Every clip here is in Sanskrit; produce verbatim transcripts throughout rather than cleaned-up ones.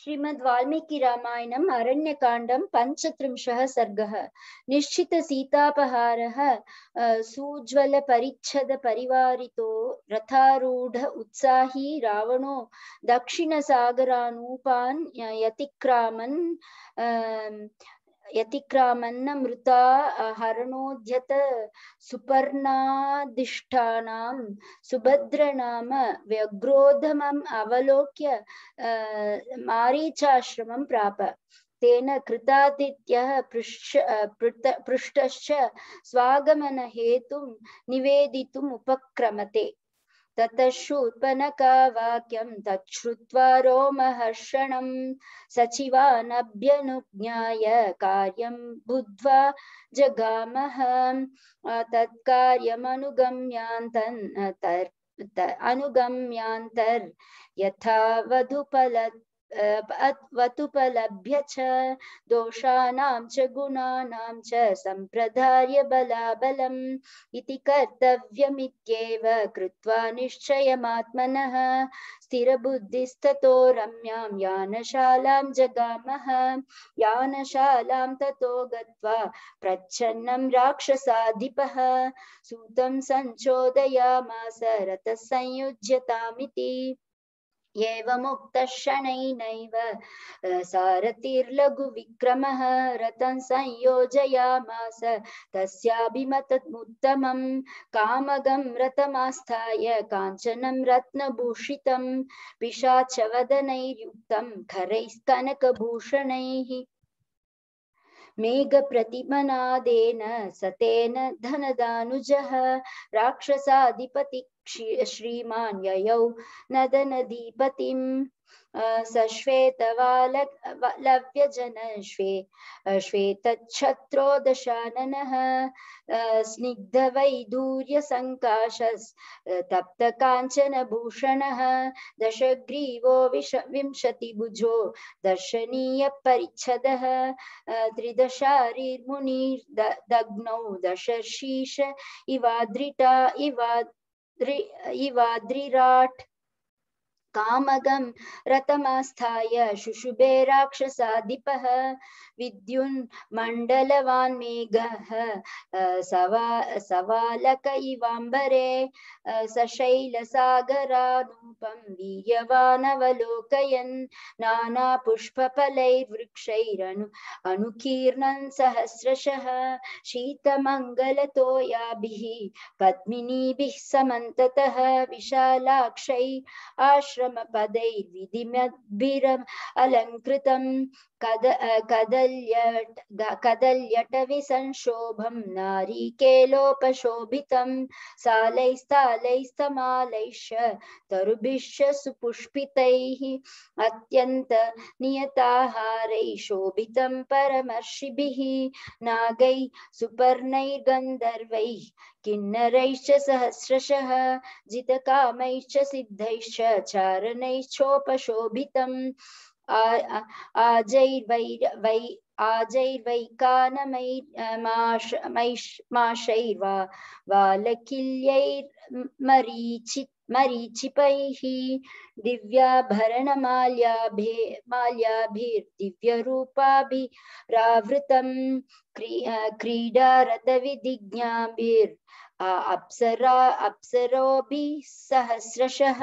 श्रीमद् वाल्मीकि रामायणम् अरण्यकाण्डं पञ्चत्रिंशः सर्गः। निश्चित सीतापहारः सुज्वल परिच्छद परिवारितो रथारूढ उत्साही रावणो दक्षिणसागरानूपान् यतिक्रामन् यतिक्रामन्नमृता हरणोद्यत सुपर्णादिष्टानां सुभद्रनाम व्यग्रोधमम् अवलोक्य मारीचाश्रमं प्राप। तेन कृतादित्यः पृष्टश्च स्वागमनहेतुं निवेदितुम् उपक्रमते। ततः शूर्पणखा वाक्यं तच्छ्रुत्वा रोमहर्षणं सचिवानभ्यनुज्ञाय कार्यं बुद्ध्वा जगामः। तत्कार्यमनुगम्यान्तन् अनुगम्यान्तर् यथा वधुपल वतुपलभ्य च दोषाणां च गुणानां च सम्प्रदार्य बलाबलम् इति कर्तव्यमित्येव कृत्वा निश्चयमात्मनः स्थिरबुद्धिस्ततो रम्यां यानशालां जगामः। यानशालां ततो गत्वा प्रच्छन्नं राक्षसाधिपः सूतं संचोदयामास रथः संयुज्यतामिति। एवमुक्तः शनैनैव सारथिर्लघुविक्रमः रथं संयोजयामास तस्याभिमतमुत्तमं कामगं रथमास्थाय काञ्चनं रत्नभूषितं पिशाचवदनैर्युक्तं खरैस्तनकभूषणैः। मेघप्रतिमनादेन सतेन धनदानुजः राक्षसाधिपति श्रीमान् ययौ नदनदीपतिम् सश्वेतवालव्यजन श्वे श्वेतच्छत्रो दशाननः स्निग्धवैदूर्यसङ्काशस् तप्तकाञ्चनभूषणः दशग्रीवो विश विंशतिभुजो दर्शनीयपरिच्छदः त्रिदशारिर्मुनिर्दग्नौ दशर्षीश इवाद्रिटा इवाद्रि इवाद्रिराट् कामगं रथमास्थाय शुशुभे राक्षसाधिपः। विद्युन्मण्डलवान् मेघः सवा सवालक इवाम्बरे सशैलसागरानूपं वीर्यवानवलोकयन् नानापुष्पफलैर्वृक्षैरनु अनुकीर्णन् सहस्रशः शीतमङ्गलतोयाभिः पद्मिनीभिः समन्ततः विशालाक्षै आश्रमपदैर्विधिमद्भिरम् अलङ्कृतं कद कदल्यट कदल्यटविसंशोभं नारीकेलोपशोभितं सालैस्तालैस्तमालैश्च तरुभिश्च सुपुष्पितैः अत्यन्त नियताहारैः शोभितं परमर्षिभिः नागैः सुपर्णैर्गन्धर्वैः किन्नरैश्च सहस्रशः जितकामैश्च सिद्धैश्च चारणैश्चोपशोभितम् आजैर्वैर वै आजैर्वैकानमैर्माशैर्वा वालकिल्यैर्मरीचि मरीचिपैः दिव्याभरणमाल्याभे माल्याभिर्दिव्यरूपाभिरावृतं क्री क्रीडारतविधिज्ञाभिर् अप्सरा अप्सरोभिः सहस्रशः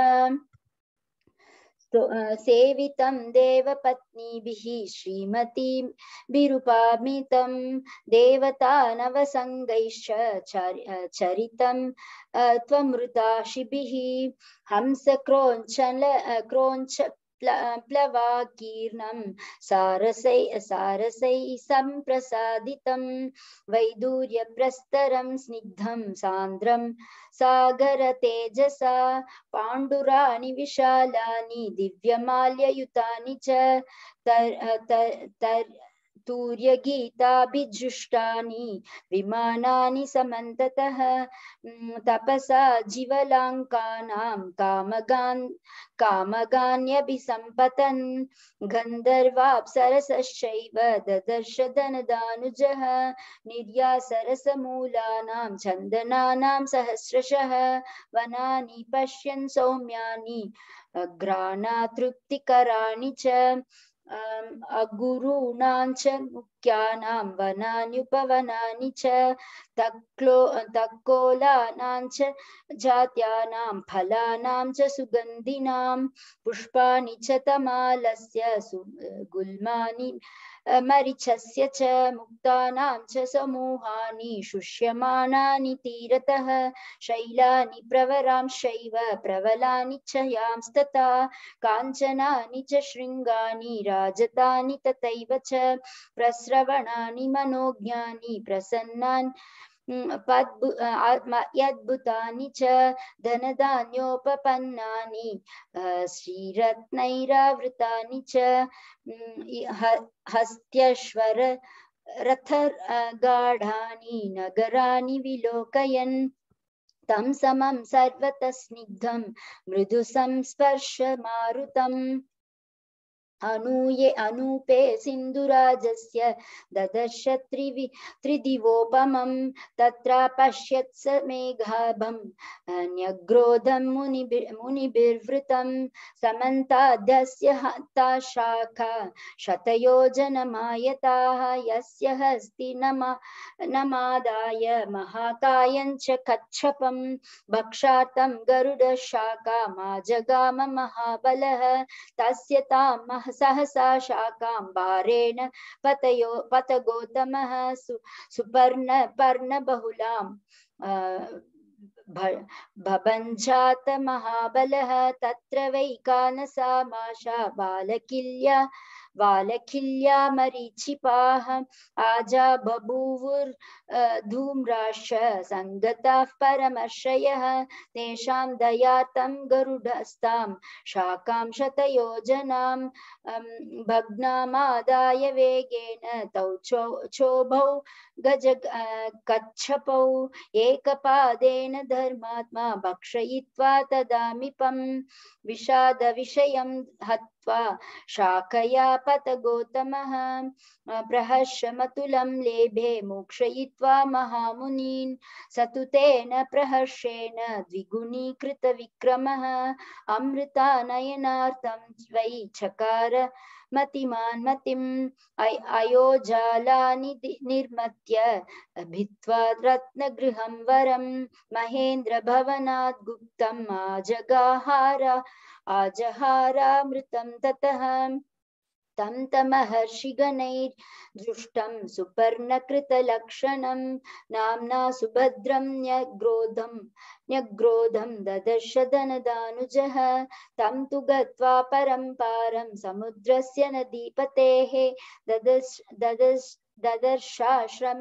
सेवितं देवपत्नीभिः श्रीमतीभिरुपामितं देवतानवसङ्गैश्च चरितं त्वमृताशिभिः हंसक्रोञ्चल क्रोञ्च प्लवाकीर्णं सारसै सारसै सम्प्रसादितं वैदूर्यप्रस्तरं स्निग्धं सान्द्रं सागरतेजसा पाण्डुराणि विशालानि दिव्यमाल्ययुतानि च तर् तर् तूर्यगीताभिजुष्टानि विमानानि समन्ततः तपसा जीवलाङ्कानां कामगान् कामगान्यभिसम्पतन् गन्धर्वाप्सरसश्चैव ददर्श धनदानुजः निर्यासरसमूलानां चन्दनानां सहस्रशः वनानि पश्यन् सौम्यानि घ्राणातृप्तिकराणि च अगुरूणां च मुख्यानां वनान्युपवनानि च तक्लो तक्कोलानां च जात्यानां फलानां च सुगन्धिनां पुष्पाणि च तमालस्य गुल्मानि मरीचस्य च मुक्तानां च समूहानि शुष्यमाणानि तीरतः शैलानि प्रवरांश्चैव प्रवलानि च यांस्तथा काञ्चनानि च शृङ्गानि राजतानि तथैव च प्रस्रवणानि मनोज्ञानि प्रसन्नानि यद्भुतानि च धनधान्योपपन्नानि श्रीरत्नैरावृतानि च हस्त्यश्वर रथगाढानि नगराणि विलोकयन् तं समं सर्वतः स्निग्धं मृदु संस्पर्शमारुतम् अनूये अनूपे सिन्धुराजस्य ददर्श त्रिवि त्रिदिवोपमं तत्र पश्यत् स मेघाभं न्यग्रोधं मुनिभिर् मुनिभिर्वृतं समन्ताद्यस्य हता शाखा शतयोजनमायताः यस्य हस्ति नमा नमादाय महाकायञ्च कच्छपं भक्षार्थं गरुडशाखामाजगाम महाबलः तस्य तां सहसा शाकां भारेण पतयो पतगोतमः सु सुपर्ण पर्णबहुलां भभञ्जात महाबलः तत्र वै कानसामाशा बालकिल्या बालकिल्या मरीचिपाः आजा बभूवुर् धूम्राश्च सङ्गताः परमर्षयः तेषां दयातं गरुडस्तां शाकां शतयोजनां भग्नामादाय वेगेन तौ चो चोभौ गज कच्छपौ एकपादेन धर्मात्मा भक्षयित्वा तदामिपं विषादविषयं हत्वा शाकया पतगोतमः प्रहर्षमतुलं लेभे मोक्षयित्वा महामुनीन् स तु तेन प्रहर्षेण द्विगुणीकृतविक्रमः अमृतानयनार्थं वै चकार मतिमान् मतिम् अयोजालानि निर्मत्य भित्त्वा रत्नगृहं वरं महेन्द्रभवनात् गुप्तम् आजगाहार आजहारामृतं ततः तं तमहर्षिगणैर्दृष्टं सुपर्णकृतलक्षणं नाम्ना सुभद्रं न्यग्रोधं न्यग्रोधं ददर्श धनदानुजः तं तु गत्वा परम्पारं समुद्रस्य नदीपतेः ददर्श ददर्श ददर्शाश्रम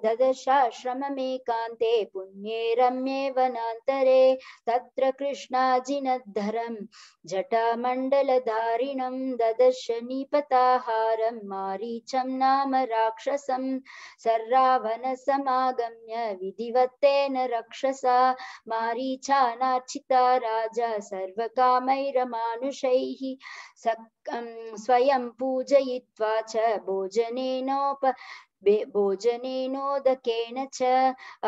ददर्शाश्रममेकान्ते पुण्ये रम्ये वनान्तरे तत्र कृष्णाजिनद्धरं जटामण्डलधारिणं ददर्श निपताहारं मारीचं नाम राक्षसं सर्रावणसमागम्य विधिवत्तेन रक्षसा मारीचानार्चिता राजा सर्वकामैरमानुषैः स्वयं पूजयित्वा च भोजनेनोप भोजनेनोदकेन च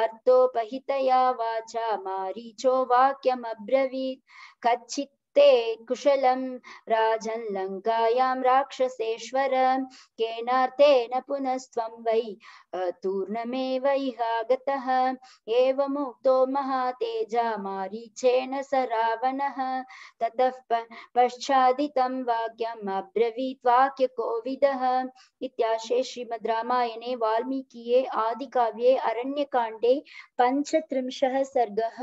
अर्थोपहितया वाचा मारीचो वाक्यमब्रवीत् कच्चित् ते कुशलं राजन् लङ्कायां राक्षसेश्वर केनार्थेन पुनस्त्वं वै तूर्णमेव इहागतः एवमुक्तो महातेजा मारीचेन स रावणः ततः पश्चादितं वाक्यम् अब्रवीत् वाक्यकोविदः इत्याशे श्रीमद् रामायणे वाल्मीकिये आदिकाव्ये अरण्यकाण्डे पञ्चत्रिंशः सर्गः।